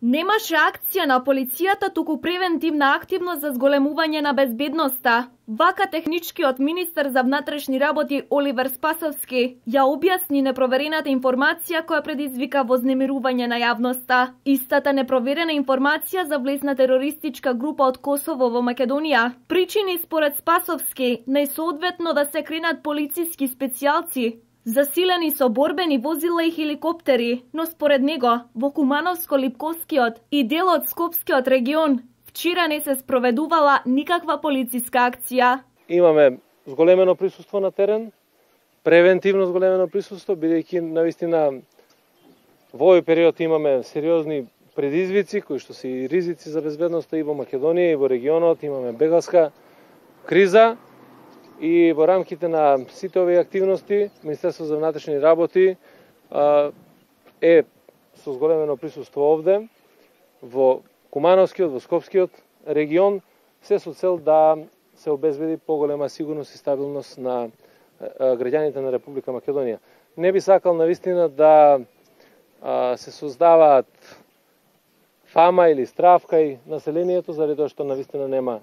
Немаше акција на полицијата, туку превентивна активност за зголемување на безбедноста. Вака техничкиот министер за внатрешни работи Оливер Спасовски ја објасни непроверената информација која предизвика вознемирување на јавноста. Истата непроверена информација за влезна терористичка група од Косово во Македонија причини според Спасовски најсоодветно да се кренат полициски специјалци засилени со борбени возила и хеликоптери, но според него во Кумановско-Липковскиот и дел од Скопскиот регион вчера не се спроведувала никаква полициска акција. Имаме зголемено присуство на терен, превентивно зголемено присуство, бидејќи навистина во овој период имаме сериозни предизвици кои што се и ризици за безбедноста и во Македонија и во регионот, имаме бегалска криза. И во рамките на сите овие активности, Министерството за внатрешни работи е со зголемено присуство овде, во Кумановскиот, во Скопскиот регион, се со цел да се обезбеди поголема сигурност и стабилност на граѓаните на Република Македонија. Не би сакал навистина да се создаваат фама или страф кај населението, заради тоа што навистина нема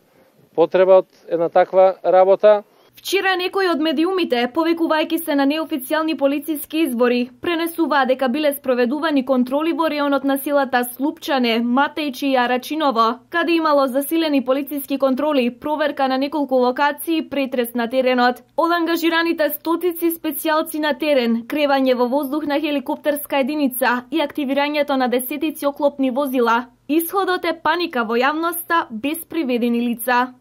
потреба од една таква работа. Вчера некои од медиумите, повикувајќи се на неофицијални полициски избори, пренесуваа дека биле спроведувани контроли во реонот на селата Слупчане, Матејчи и Арачиново, каде имало засилени полициски контроли, проверка на неколку локации и претрес на теренот. Од ангажираните стотици специјалци на терен, кревање во воздух на хеликоптерска единица и активирањето на десетици оклопни возила, исходот е паника во јавноста без приведени лица.